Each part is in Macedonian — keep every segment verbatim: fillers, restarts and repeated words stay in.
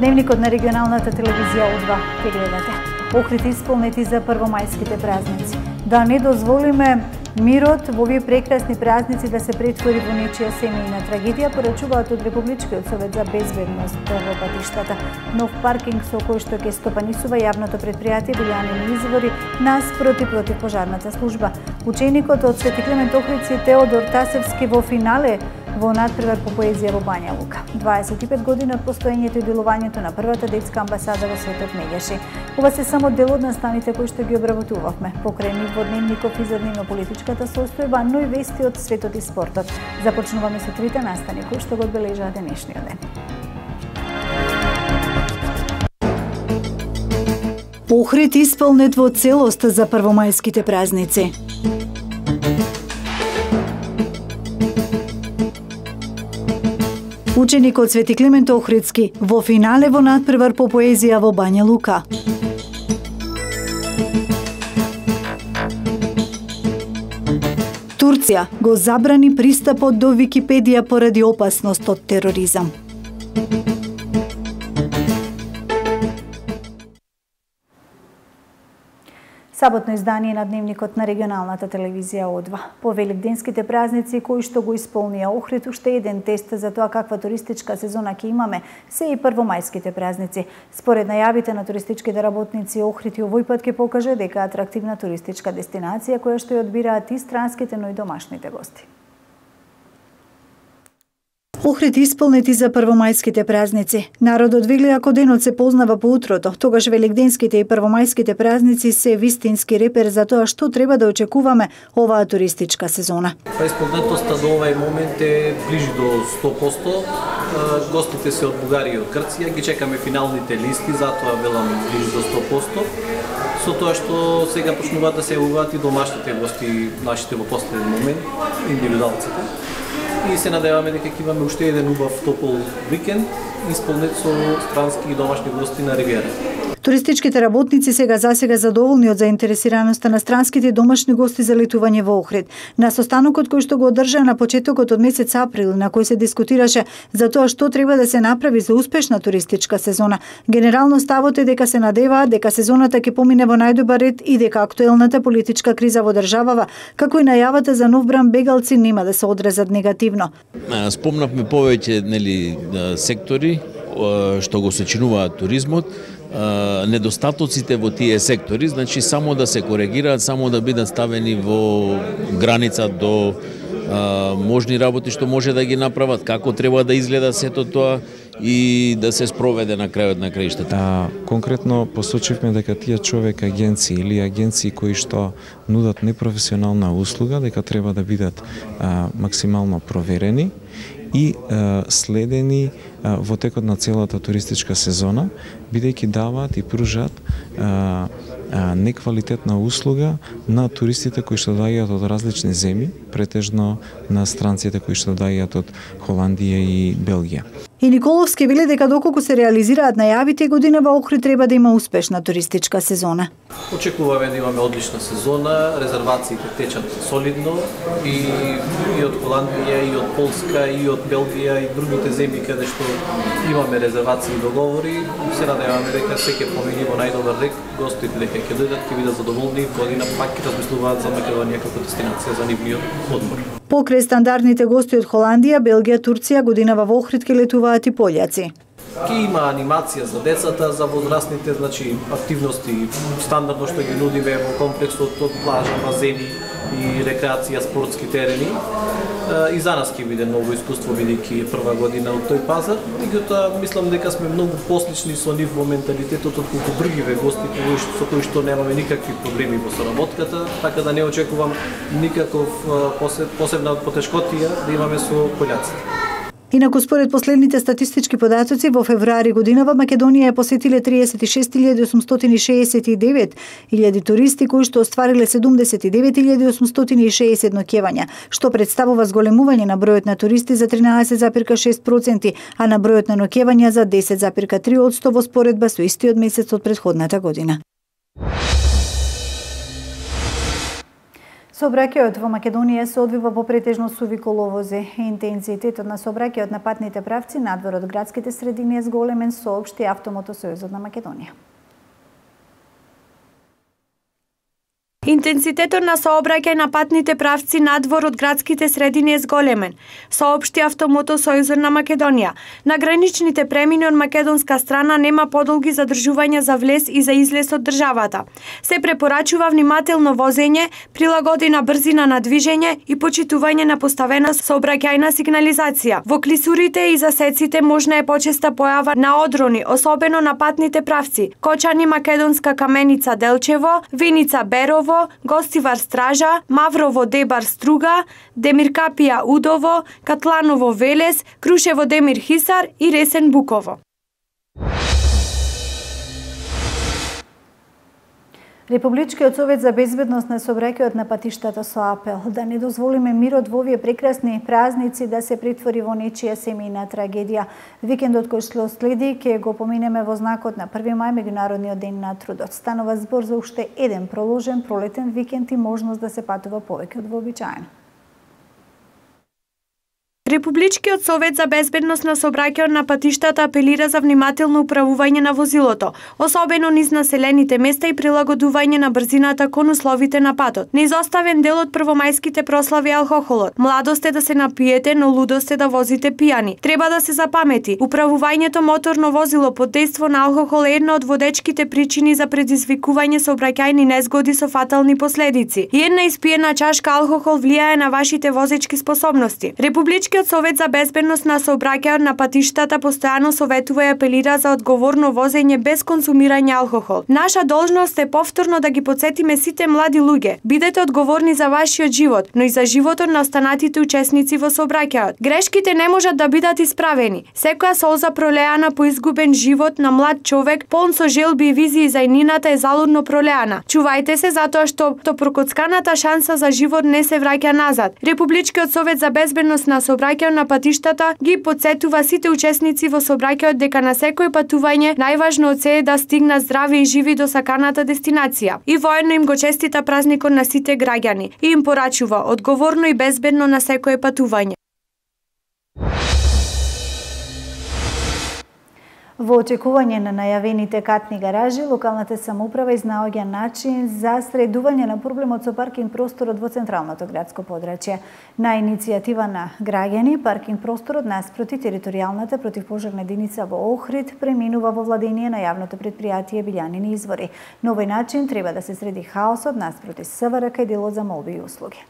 Дневникот на регионалната телевизија О два ќе гледате. Охрид исполнети за првомајските празници. Да не дозволиме мирот во овие прекрасни празници да се претвори во нечија семејна трагедија, порачуваат од Републичкиот совет за безбедност во патиштата. Нов паркинг со кој што ќе стопанисува јавното предпријатие Билјанини извори наспроти противпожарната служба. Ученикот од Свети Климент Охридски Теодор Тасевски во финале во надпревар по поезија во Бања Лука. дваесет и пет години од постоењето и делувањето на првата детска амбасада во светот Меѓаши. Ова се само дел од настаните кои што ги обработувавме. Покрај нив во дневников и за дневно-политичката состојба, но и вести од светот и спортот. Започнуваме со трите настани кои што го одбележаа денешниот ден. Охрид исполнет во целост за првомајските празници. Ученикот Свети Климент Охридски во финале во надпревар по поезија во Бања Лука. Турција го забрани пристапот до Википедија поради опасност од тероризам. Саботно издание на Дневникот на регионалната телевизија О два. По великденските празници кои што го исполнија Охрид, уште еден тест за тоа каква туристичка сезона ќе имаме се и првомајските празници. Според најавите на туристичките работници, Охрид и овој пат ќе покаже дека атрактивна туристичка дестинација која што ја одбираат и странските, но и домашните гости. Охрид исполнети за првомајските празници. Народот вели ако денот се познава по утрото, тогаш великденските и првомајските празници се вистински репер за тоа што треба да очекуваме оваа туристичка сезона. Па исполнетоста до овај момент е ближи до сто проценти. Гостите се од Бугарија и од Грција, ги чекаме финалните листи, затоа велам ближи до сто проценти. Со тоа што сега почнуваат да се јавуваат и домашните гости, нашите во последен момент, индивидуалците. И се надеваме дека ќе имаме уште еден убав топол викенд, исполнет со странски и домашни гости на Ривиерата. Туристичките работници сега засега задоволни од заинтересираноста на странските и домашни гости за летување во Охрид. На состанокот кој што го одржа на почетокот од месец април, на кој се дискутираше за тоа што треба да се направи за успешна туристичка сезона, генерално ставот е дека се надеваат дека сезоната ќе помине во најдобар ред и дека актуелната политичка криза во државава, како и најавата за нов бран бегалци нема да се одразат негативно. Спомнавме повеќе нели сектори што го сочинуваат туризмот, недостатоците во тие сектори, значи само да се коригираат, само да бидат ставени во граница до а, можни работи што може да ги направат, како треба да изгледа сето тоа и да се спроведе на крајот на краиштата. А, конкретно посочивме дека тие човек агенции или агенции кои што нудат непрофесионална услуга, дека треба да бидат а, максимално проверени и а, следени а, во текот на целата туристичка сезона, бидејќи даваат и пружат а, а, неквалитетна услуга на туристите кои што доаѓаат од различни земји, претежно на странците кои што доаѓаат од Холандија и Белгија. И Николовски вели дека доколку се реализираат најавите, годинава Охрид треба да има успешна туристичка сезона. Очекуваме да имаме одлична сезона, резервациите течат солидно и, и од Холандија, и од Полска, и од Белгија, и другите земји каде што имаме резервации и договори. Се надеваме дека се ќе помени во најдобар ред, гостите дека ќе дојдат, ќе бидат задоволни, година пак ќе размислуваат за Македонија како дестинација за нивниот одмор. Покрај стандардните гости од Холандија, Белгија, Турција, годинава во Охрид ќе летуваат и пољаци. Ке има анимација за децата, за возрастните, значи активности стандардно што ги нудиме во комплексот од плажа, базени и рекреација, спортски терени. И за нас ќе биде ново искуство, бидејќи е прва година од тој пазар. Меѓутоа, мислам дека сме многу послични со нив во менталитетот отколку другиве гости со кои што немаме никакви проблеми во соработката, така да не очекувам никаков посебна потешкотија да имаме со пољаците. Инаку, според последните статистички податоци, во февруари годинава Македонија ја посетиле триесет и шест илјади осумстотини шеесет и девет илјади туристи кои што оствариле седумдесет и девет илјади осумстотини и шеесет ноќевања, што представува зголемување на бројот на туристи за тринаесет зарез шест проценти, а на бројот на ноќевања за десет зарез три проценти во споредба со истиот месец од претходната година. Сообраќајот во Македонија се одвива по претежно суви коловози. Интензитетот на сообраќајот на патните правци надвор од градските средини е зголемен, соопшти Автомотосојузот на Македонија. Интензитетот на сообраќај на патните правци надвор од градските средини е зголемен, соопшти Автомотосојузот на Македонија. На граничните премини од македонска страна нема подолги задржувања за влез и за излез од државата. Се препорачува внимателно возење, прилагодена брзина на движење и почитување на поставена сообраќајна сигнализација. Во клисурите и засеците можна е почеста појава на одрони, особено на патните правци: Кочани Македонска Каменица Делчево, Виница Берово, Гостивар Стража, Маврово Дебар Струга, Демиркапија Удово, Катланово Велес, Крушево Демир Хисар и Ресен Буково. Републичкиот совет за безбедност на сообраќајот на патиштата со апел да не дозволиме мирот во овие прекрасни празници да се претвори во нечија семејна трагедија. Викендот кој што следи ќе го поминеме во знакот на први мај, меѓународниот ден на трудот. Станува збор за уште еден проложен пролетен викенд и можност да се патува повеќе од вообичаено. Републичкиот совет за безбедност на сообраќајот на патиштата апелира за внимателно управување на возилото, особено низ населените места и прилагодување на брзината кон условите на патот. Неизоставен дел од првомајските прослави е алкохолот. Младост е да се напиете, но лудост е да возите пијани. Треба да се запамети, управувањето моторно возило под дејство на алкохол е една од водечките причини за предизвикување сообраќајни незгоди со фатални последици. И една испиена чашка алкохол влијае на вашите возечки способности. Републичкиот совет за безбедност на сообраќајот на патиштата постојано советува и апелира за одговорно возење без консумирање алкохол. Наша должност е повторно да ги потсетиме сите млади луѓе. Бидете одговорни за вашиот живот, но и за животот на останатите учесници во сообраќајот. Грешките не можат да бидат исправени. Секоја солза пролеана по изгубен живот на млад човек, полн со желби и визии за иднината е залудно пролеана. Чувајте се затоа што то прокоцканата шанса за живот не се враќа назад. Републичкиот совет за безбедност на сообраќајот на патиштата ги потсетува сите учесници во сообраќајот дека на секој патување најважно од се е да стигнат здрави и живи до саканата дестинација. И воедно им го честита празникот на сите граѓани и им порачува одговорно и безбедно на секое патување. Во очекување на најавените катни гаражи, локалната самоуправа изнаоѓа начин за средување на проблемот со паркинг просторот во централното градско подрачје. На иницијатива на граѓани, паркинг просторот наспроти територијалната противпожарна единица во Охрид преминува во владение на јавното претпријатие Билјанини извори. На овој начин треба да се среди хаосот наспроти СВРК и делот за молби и услуги.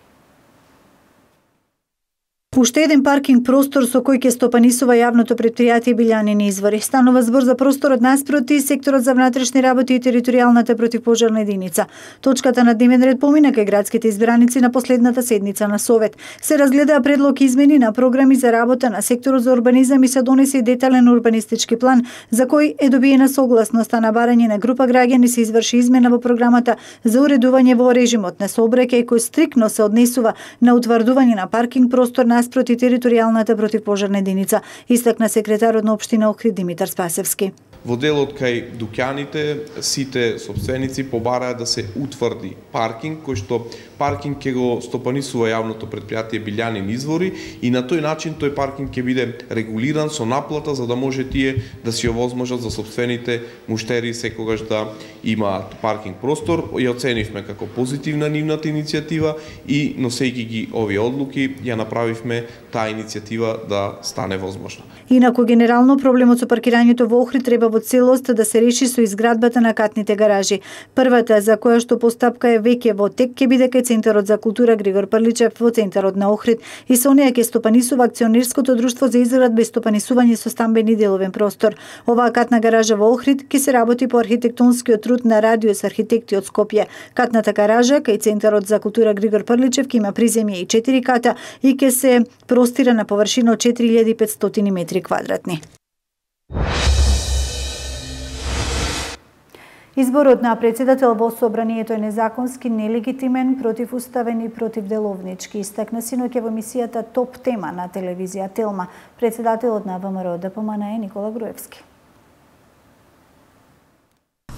Уште еден паркинг простор со кој ќе стопанисува јавното претпријатие Билјанини извори. Станува збор за просторот наспроти секторот за внатрешни работи и територијалната противпожарна единица. Точката на дневен ред помина кај градските избраници на последната седница на Совет. Се разгледаа предлог измени на програми за работа на секторот за урбанизам и се донесе и детален урбанистички план за кој е добиена согласноста на барање на група граѓани. Се изврши измена во програмата за уредување во режимот на сообраќај кој стриктно се однесува на утврдување на паркинг простор на наспроти територијалната противпожарна единица, истакна секретарот на општина Охрид Димитар Спасевски. Во делот кај дуќаните, сите собственици побараа да се утврди паркинг, кој што паркинг ќе го стопанисува јавното претпријатие Билјанини извори и на тој начин тој паркинг ќе биде регулиран со наплата за да може тие да си овозможат за собствените муштери секогаш да имаат паркинг простор. Ја оценивме како позитивна нивната иницијатива и носејќи ги овие одлуки ја направивме таа иницијатива да стане возможна. Инаку генерално проблемот со паркирањето во Охрид треба во целост да се реши со изградбата на катните гаражи. Првата, за која што постапка е веќе во тек, ќе биде кај Центарот за култура Григор Прличев во центарот на Охрид и со неја ќе стопанисува акционерското друштво за изградба и стопанисување со стамбен и деловен простор. Оваа катна гаража во Охрид ќе се работи по архитектонскиот труд на Радиус архитекти од Скопје. Катната гаража кај Центарот за култура Григор Прличев ќе има приземје и четири ката и ќе се простира на површина од четири илјади и петстотини метри квадратни. Изборот на председател во собранието е незаконски, нелегитимен, противуставен и противделовнички, истакна синоќа во емисијата Топ тема на телевизија Телма. Председателот на ВМРО ДПМН е Никола Груевски.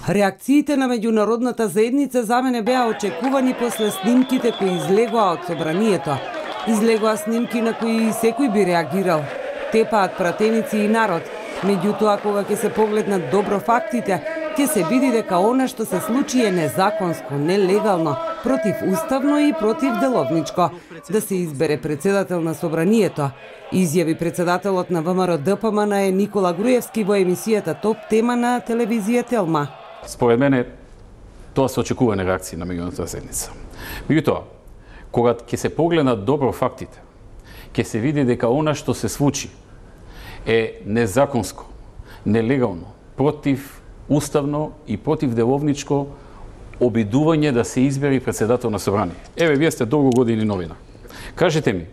Реакциите на меѓународната заедница за мене беа очекувани после снимките кои излегоа од собранието. Излегоа снимки на кои секој би реагирал. Тепаат пратеници и народ. Меѓутоа, кога ќе се погледнат добро фактите, ќе се види дека она што се случи е незаконско, нелегално, противуставно и противделовничко. Да се избере председател на собранието, изјави председателот на ВМРО-ДПМН е Никола Груевски во емисијата Топ тема на телевизија Телма. Според мене, тоа се очекувани реакции на меѓународната заедница. Меѓутоа, кога ќе се погледнат добро фактите, ќе се види дека она што се случи е незаконско, нелегално, противуставно и противделовничко обидување да се избери председател на собрание. Еве, вие сте долго години новина. Кажете ми,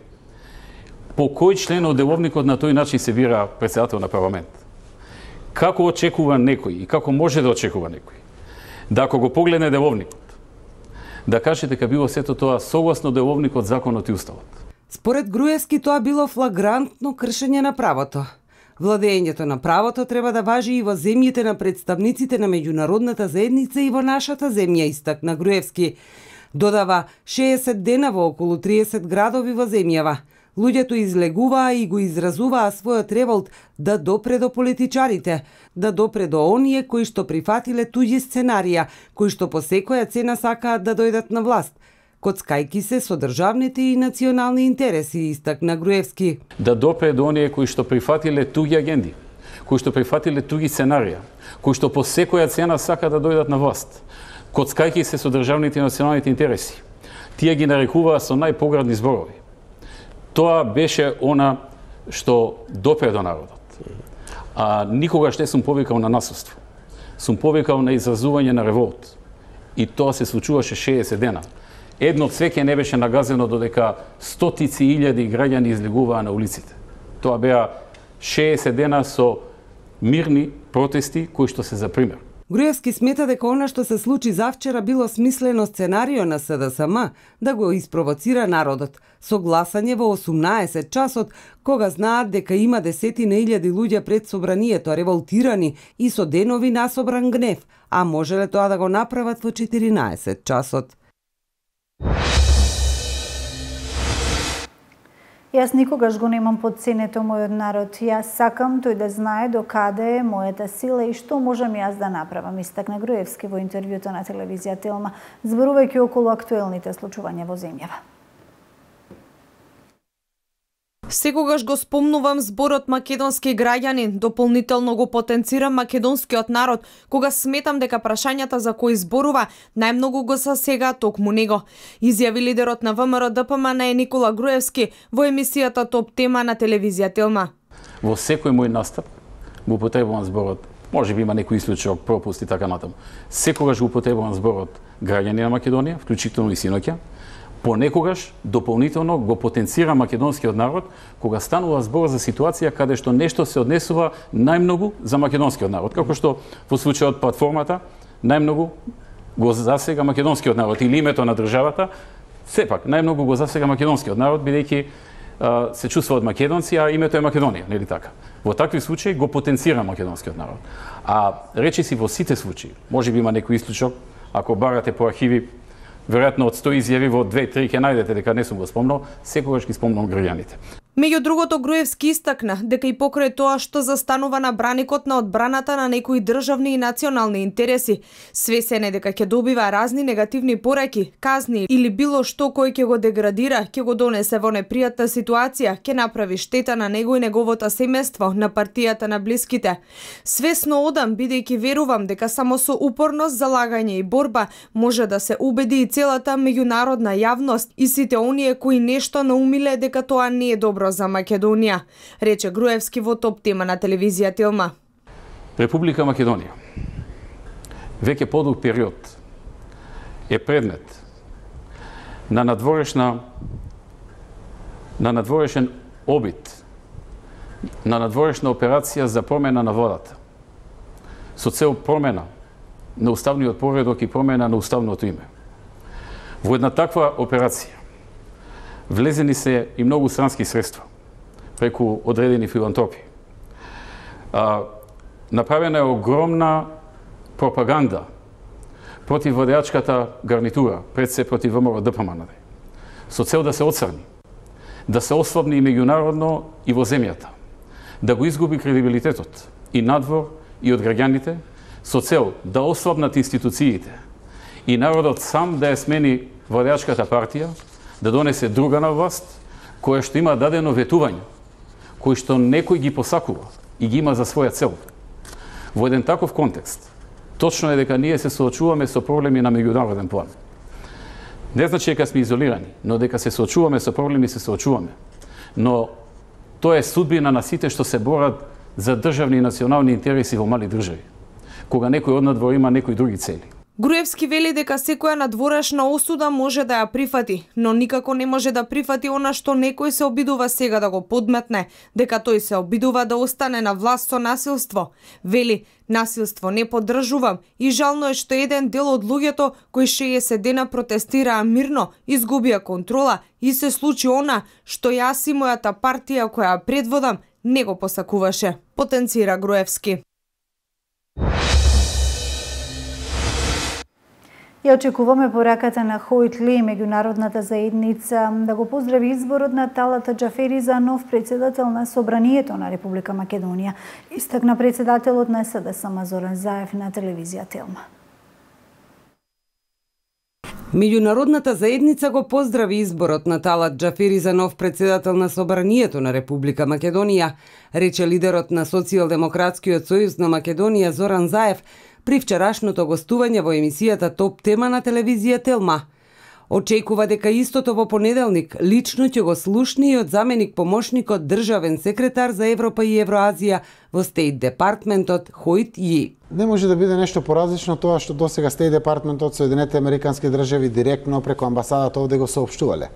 по кој член од деловникот на тој начин се бира председател на парламент? Како очекува некој и како може да очекува некој? Да ако го погледне деловникот, да каже дека било сето тоа согласно деловникот, законот и уставот. Според Груевски тоа било флагрантно кршење на правото. Владењето на правото треба да важи и во земјите на представниците на меѓународната заедница и во нашата земја, истакна Груевски. Додава шеесет дена во околу триесет градови во земјава. Луѓето излегуваа и го изразуваа својот револт да допре до политичарите, да допре до оние кои што прифатиле туѓи сценарија, кои што по секоја цена сакаат да дојдат на власт, коцкајки се со државните и национални интереси, истакна Груевски. Да допре до оние кои што прифатиле туѓи агенди, кои што прифатиле туѓи сценарија, кои што по секоја цена сакаат да дојдат на власт, коцкајки се со државните и националните интереси. Тие ги нарекуваа со најпоградни зборови. Тоа беше она што допре до народот. А никогаш не сум повикал на насилство. Сум повикал на изразување на револт. И тоа се случуваше шеесет дена. Едно цвеќе не беше нагазено додека стотици илјади граѓани излегуваа на улиците. Тоа беа шеесет дена со мирни протести кои што се за пример. Груевски смета дека она што се случи завчера било смислено сценарио на СДСМ да го испровоцира народот со гласање во осумнаесет часот, кога знаат дека има десетина илјади луѓе пред собранието револтирани и со денови насобран гнев, а можеле тоа да го направат во четиринаесет часот. Јас никогаш го немам подценето мојот народ. Јас сакам тој да знае до каде е мојата сила и што можам јас да направам, истакна Груевски во интервјуто на телевизија Телма, зборувајќи околу актуелните случувања во земјава. Секогаш го спомнувам зборот македонски граѓанин, дополнително го потенцирам македонскиот народ, кога сметам дека прашањата за кои зборува најмногу го засега токму него, изјави лидерот на ВМРО-ДПМН Никола Груевски во емисијата Топ тема на телевизија Телма. Во секој мој настап го употребувам зборот, може би има некој исклучок, пропуст и така натаму. Секогаш го употребувам зборот граѓани на Македонија, вклучително и синоќа. Понекогаш дополнително го потенцира македонскиот народ кога станува збор за ситуација каде што нешто се однесува најмногу за македонскиот народ, како што во случајот платформата најмногу го засега македонскиот народ или името на државата, сепак најмногу го засега македонскиот народ бидејќи се чувствуваат македонци, а името е Македонија, нели така? Во такви случаи го потенцира македонскиот народ. А речиси во сите случаи, можеби има некој исклучок, ако барате по архиви, веројатно од сто изјави во две-три ќе најдете дека не сум го спомнал, секогаш ги спомнам граѓаните. Меѓу другото, Груевски истакна дека и покрај тоа што застанува на браникот на одбраната на некои државни и национални интереси, свесен е дека ќе добива разни негативни пораки, казни или било што кој ќе го деградира, ќе го донесе во непријатна ситуација, ќе направи штета на него и неговото семејство, на партијата, на блиските. Свесно одам, бидејќи верувам дека само со упорност, залагање и борба може да се убеди и целата меѓународна јавност и сите оние кои нешто наумиле дека тоа не е добро за Македонија, рече Груевски во Топ тема на телевизија Телма. Република Македонија веќе подолг период е предмет на надворешна на надворешен обид, на надворешна операција за промена на владата, со цел промена на уставниот поредок и промена на уставното име. Во една таква операција влезени се и многу странски средства преку одредени филантропи. А, направена е огромна пропаганда против владеачката гарнитура, пред се против ВМРО Д П М Н Д, со цел да се оцрни, да се ослабни и меѓународно и во земјата, да го изгуби кредибилитетот и надвор и од граѓаните, со цел да ослабнат институциите и народот сам да ја смени владеачката партија, да донесе друга на власт, која што има дадено ветување, кој што некој ги посакува и ги има за своја цел. Во еден таков контекст, точно е дека ние се соочуваме со проблеми на меѓународен план. Не значи дека сме изолирани, но дека се соочуваме со проблеми, се соочуваме. Но тоа е судбина на сите што се борат за државни и национални интереси во мали држави, кога некој од надвор има некои други цели. Груевски вели дека секоја надворешна осуда може да ја прифати, но никако не може да прифати она што некој се обидува сега да го подметне, дека тој се обидува да остане на власт со насилство. Вели, насилство не поддржувам и жално е што еден дел од луѓето кои шеесет дена протестираа мирно, изгубија контрола и се случи она што јас и мојата партија која ја предводам не го посакуваше, потенцира Груевски. Ја очекуваме пораката на Хојтли и меѓународната заедница да го поздрави изборот на Талат Џафери за нов председател на Собранието на Република Македонија, истакна председателот на С Д С М Зоран Заев на телевизија Телма. Меѓународната заедница го поздрави изборот на Талат Џафери за нов председател на Собранието на Република Македонија, рече лидерот на Социјалдемократскиот сојуз на Македонија Зоран Заев при вчерашното гостување во емисијата Топ тема на телевизија Телма. Очекува дека истото во понеделник лично ќе го слушне и од заменик помошникот државен секретар за Европа и Евроазија во Стейт Департментот Хојт Ји. Не може да биде нешто поразлично тоа што досега Стейт Департментот Соединетите Американски држави директно преку амбасадата овде го соопштувале.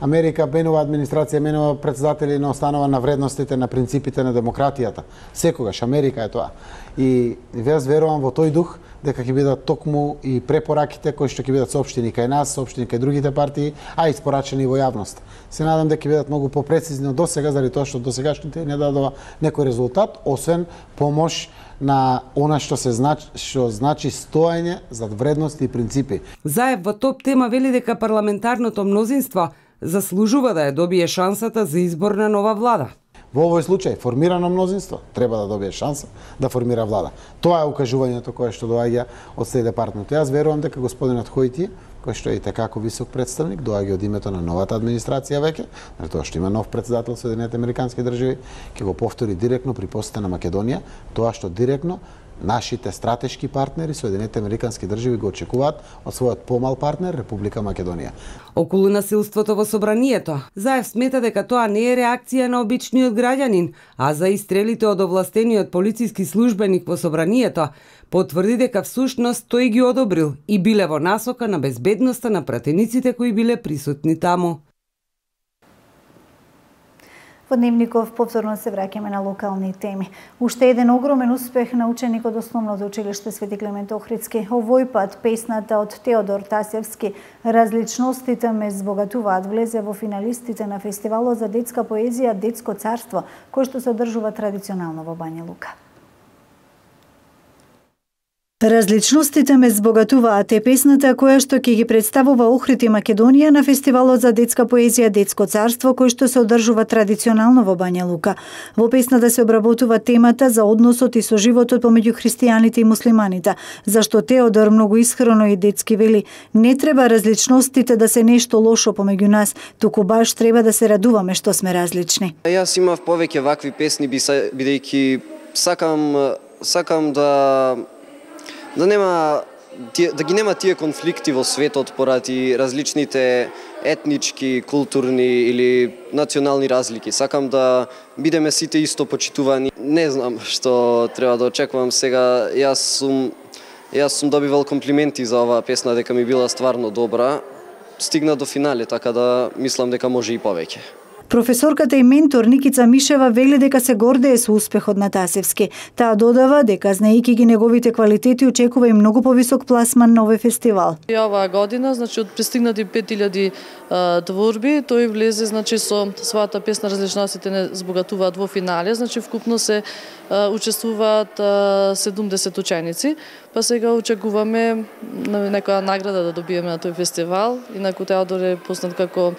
Америка менува администрација, менува председатели на останова на вредностите, на принципите на демократијата. Секогаш Америка е тоа. И јас верувам во тој дух дека ќе бидат токму и препораките кои што ќе бидат соопштени кај нас, соопштени кај другите партии, а испорачени во јавност. Се надам дека ќе бидат многу попрецизни од досега, заради тоа што досегашните не дадува некој резултат, освен помош на она што се значи, што значи стоење зад вредности и принципи. Заев во Топ тема вели дека парламентарното мнозинство заслужува да ја добие шансата за избор на нова влада. Во овој случај, формирано мнозинство треба да добие шанса да формира влада. Тоа е укажувањето кое што доаѓа од Стейт Департмент. Јас верувам дека господинот Хојти, кој што е и како висок представник, доаѓа од името на новата администрација веќе, на тоа што има нов председател Соединетите Американски држави, ќе го повтори директно при посета на Македонија, тоа што директно нашите стратешки партнери, Соединетите Американски држави, го очекуваат од својот помал партнер, Република Македонија. Околу насилството во Собранието, Заев смета дека тоа не е реакција на обичниот граѓанин, а за истрелите од овластениот полициски службеник во Собранието, потврди дека всушност тој ги одобрил и биле во насока на безбедноста на пратениците кои биле присутни таму. Во Дневников повторно се враќаме на локални теми. Уште еден огромен успех на ученик од Основното училиште Свети Климент Охридски. Овој пат песната од Теодор Тасевски "Различностите ме збогатуваат" влезе во финалистите на фестивалот за детска поезија Детско царство, кој што се одржува традиционално во Бања Лука. Различностите ме збогатуваат е песната која што ќе ги представува Охрид и Македонија на фестивалот за детска поезија Детско царство, кој што се одржува традиционално во Бања Лука. Во песната се обработува темата за односот и соживотот помеѓу христијаните и муслиманите, зашто Теодор многу искрено и детски вели: "Не треба различностите да се нешто лошо помеѓу нас, туку баш треба да се радуваме што сме различни." Јас имав повеќе вакви песни бидејќи сакам сакам да да нема да ги нема тие конфликти во светот поради различните етнички, културни или национални разлики. Сакам да бидеме сите исто почитувани. Не знам што треба да очекувам сега. Јас сум јас сум добивал комплименти за оваа песна дека ми била стварно добра. Стигна до финале, така да мислам дека може и повеќе. Професорката и ментор Никица Мишева вели дека се гордее со успехот на Тасевски. Таа додава дека знаејќи ги неговите квалитети очекува и многу повисок пласман на овој фестивал. И оваа година, значи од пристигнати пет илјади творби, тој влезе значи со својата песна Различностите не збогатуваат во финале, значи вкупно се учествуваат седумдесет ученици, па сега очекуваме некоја награда да добиеме на тој фестивал. Инаку Теодор е познат како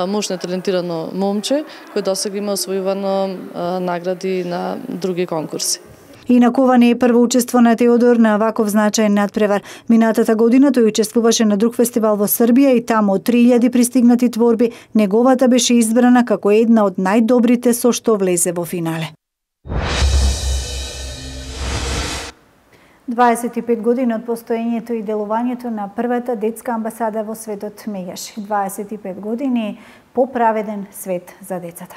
мощно талентирано момче, кој досега има освојувано награди на други конкурси. Инаку ова не е прво учество на Теодор на ваков значаен надпревар. Минатата година тој учествуваше на друг фестивал во Србија и таму од три илјади пристигнати творби, неговата беше избрана како една од најдобрите со што влезе во финале. дваесет и пет години од постоењето и делувањето на првата детска амбасада во светот Меѓаши. дваесет и пет години по праведен свет за децата.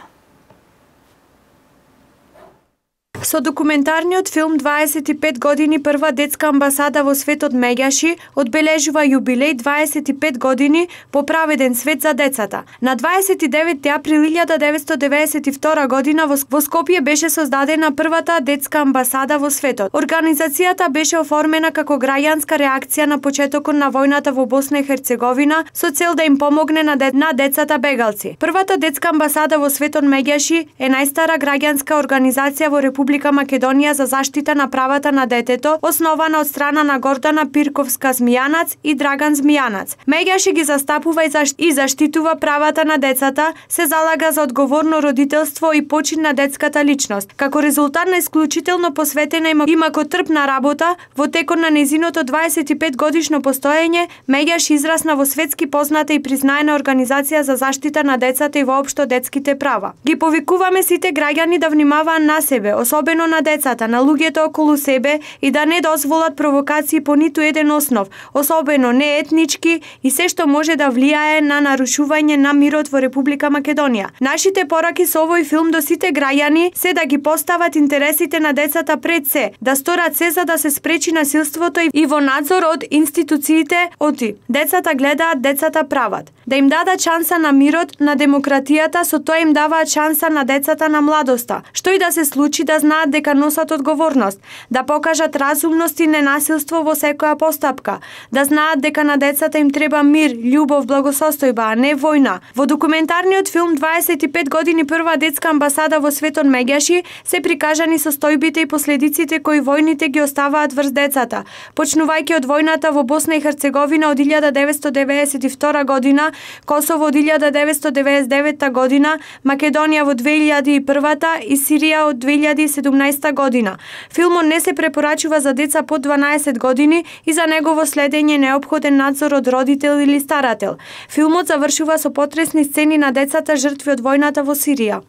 Со документарниот филм дваесет и пет години прва детска амбасада во светот Меѓаши одбележува јубилеј дваесет и пет години по праведен свет за децата. На дваесет и деветти април илјада деветстотини деведесет и втора година во Скопје беше создадена првата детска амбасада во светот. Организацијата беше оформена како граѓанска реакција на почетокот на војната во Босна и Херцеговина со цел да им помогне на, де... на децата бегалци. Првата детска амбасада во светот Меѓаши е најстара граѓанска организација во Република Македонија за заштита на правата на детето, основана од страна на Гордана Пирковска Змијанац и Драган Змијанац. Меѓаши ги застапува и, защ... и заштитува правата на децата, се залага за одговорно родителство и почин на детската личност. Како резултат на исклучително посветена и макотрпна работа, во текот на незиното дваесет и пет годишно постоење, Меѓаши израсна во светски позната и признаена организација за заштита на децата и воопшто детските права. Ги повикуваме сите граѓани да внимаваат на себе, особено на децата, на луѓето околу себе и да не дозволат провокации по ниту еден основ, особено не етнички и се што може да влијае на нарушување на мирот во Република Македонија. Нашите пораки со овој филм до сите граѓани се да ги постават интересите на децата пред се, да сторат се за да се спречи насилството и во надзор од институциите оти. Децата гледаат, децата прават. Да им дадат шанса на мирот, на демократијата, со тоа им даваат шанса на децата на младоста. Што и да се случи, да знаат дека носат одговорност, да покажат разумност и ненасилство во секоја постапка, да знаат дека на децата им треба мир, љубов, благосостојба, а не војна. Во документарниот филм дваесет и пет години прва детска амбасада во светот Меѓаши се прикажани состојбите и последиците кои војните ги оставаат врз децата, почнувајќи од војната во Босна и Херцеговина од илјада деветстотини деведесет и втора година, Косово од илјада деветстотини деведесет и девета година, Македонија во две илјади и првата и Сирија од две илјади и седумнаесета година. Филмот не се препорачува за деца под дванаесет години и за негово следење неопходен надзор од родител или старател. Филмот завршува со потресни сцени на децата жртви од војната во Сирија.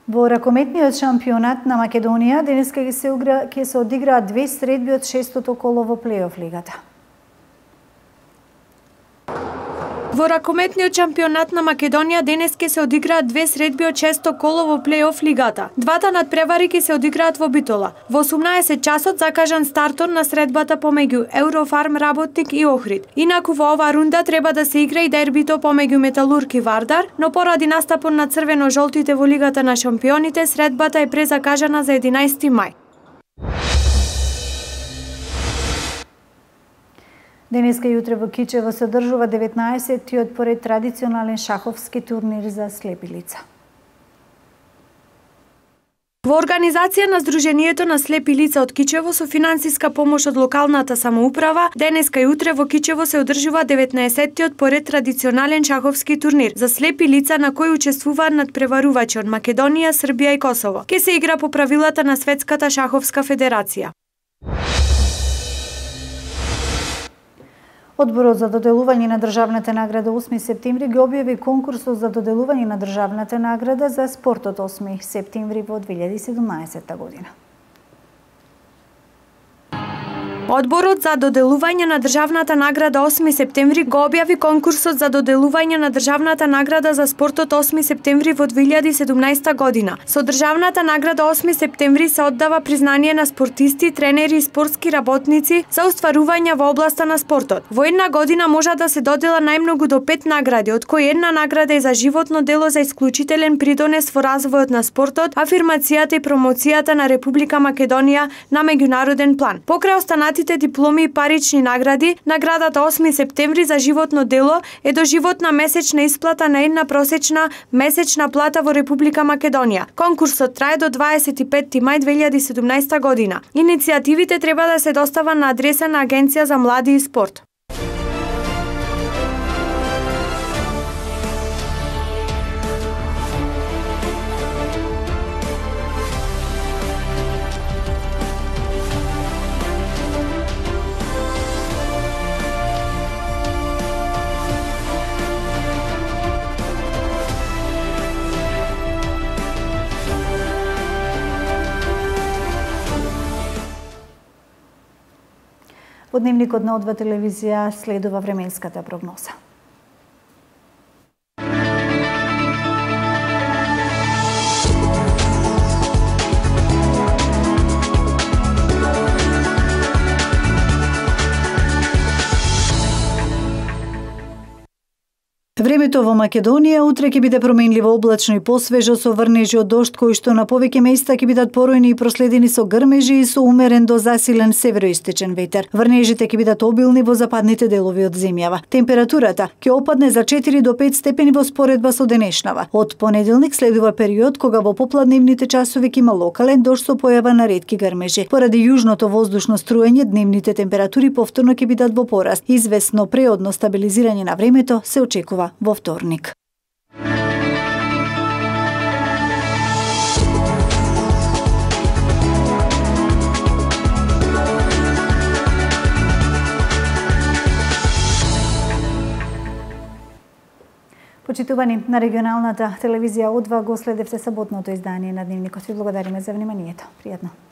Во ракометниот шампионат на Македонија денеска ќе се, ќе се одиграат две средби од шестото коло во плейоф лигата. Во ракометниот шампионат на Македонија денес ќе се одиграат две средби од шесто коло во плейоф лигата. Двата надпревари ќе се одиграат во Битола. Во осумнаесет часот закажан стартот на средбата помеѓу Еврофарм Работник и Охрид. Инаку во оваа рунда треба да се игра и дербито помеѓу Металург и Вардар, но поради настапот на црвено-жолтите во Лигата на шампионите, средбата е презакажана за единаесети мај. Денеска и утре во Кичево се одржува деветнаесеттиот поред традиционален шаховски турнир за слепи лица. Во организација на Сдруженијето на слепи лица од Кичево со финансиска помош од локалната самоуправа, денеска и утре во Кичево се одржува деветнаесеттиот поред традиционален шаховски турнир за слепи лица на кој учествуваат надпреварувачи од Македонија, Србија и Косово. Ке се игра по правилата на Светската шаховска федерација. Одборот за доделување на државната награда осми септември ги објави конкурсот за доделување на државната награда за спортот осми септември во две илјади и седумнаесетта година. Одборот за доделување на државната награда осми септември го објави конкурсот за доделување на државната награда за спортот осми септември во две илјади и седумнаесетта година. Со државната награда осми септември се оддава признание на спортисти, тренери и спортски работници за остварувања во областа на спортот. Во една година може да се додела најмногу до пет награди, од кои една награда е за животно дело за исклучителен придонес во развојот на спортот, афирмацијата и промоцијата на Република Македонија на меѓународен план. Покрај останатите дипломи и парични награди, наградата осми септември за животно дело е доживотна месечна исплата на една просечна месечна плата во Република Македонија. Конкурсот трае до дваесет и петти мај две илјади и седумнаесетта година. Иницијативите треба да се достава на адреса на Агенција за млади и спорт. Во дневникот на О два телевизија следува временската прогноза. Времето во Македонија утре ќе биде променливо облачно и посвежо со врнежи од дожд кои што на повеќе места ќе бидат поројни и проследени со грмежи и со умерен до засилен североисточен ветер. Врнежите ќе бидат обилни во западните делови од земјава. Температурата ќе опадне за четири до пет степени во споредба со денешнава. Од понеделник следува период кога во попладневните часови ќе има локален дожд со појава на ретки грмежи. Поради јужното воздушно струење, дневните температури повторно ќе бидат во пораст. Известно преодно стабилизирање на времето се очекува во вторник. Почитувани, на регионалната телевизија О два го следевте саботното издание на Дневникот. Ви благодариме за вниманието. Пријатно.